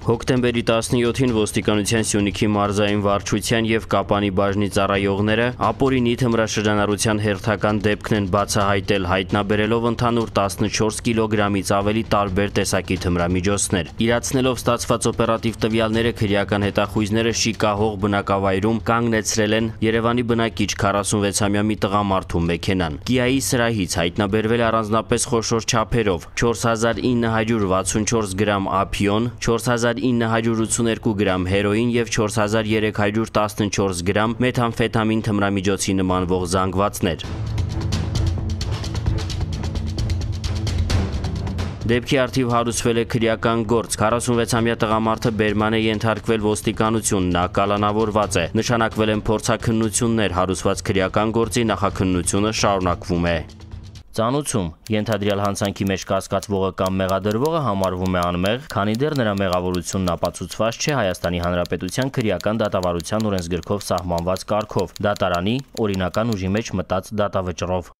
Հոկտեմբերի 17-ին ոստիկանության Սյունիքի մարզային վարչության և Կապանի բաժնի ծառայողները ապօրինի թմրաշրջանառության հերթական դեպքն են բացահայտել, հայտնաբերելով ընդհանուր 14 կիլոգրամից ավելի տարբեր տեսակի թմրամիջոցներ։ Իրացնելով ստացված օպերատիվ տվյալները, քրեական հետախույզները շիկահող բնակավայրում կանգնեցրել են Երևանի բնակիչ 46-ամյա մի տղամարդու մեքենան։ Կիայի սրահից հայտնաբերվել առանձնապես խոշոր չափերով 4964 գրամ ափիոն, 4982 գրամ հերոին և 4314 գրամ մեթամֆետամին թմրամիջոցի նմանվող զանգվածներ։ Դեպքի առթիվ հարուցվել է քրեական գործ։ 46-ամյա տղամարդը բերման է ենթարկվել ոստիկանություն, նա կալանավորված է։ Նշանակվել են փորձաքննություններ, հարուցված քրեական գործի նախաքննությունը շարունակվում է։ Ծանուցում ենթադրյալ հանցանքի մեջ կասկածվողը կամ մեղադրվողը համարվում է անմեղ, քանի դեռ նրա մեղավորությունն ապացուցված չէ Հայաստանի Հանրապետության քրեական դատավարության օրենսգրքով սահմանված կարգով՝ դատարանի օրինական ուժի մեջ մտած դատավճռով։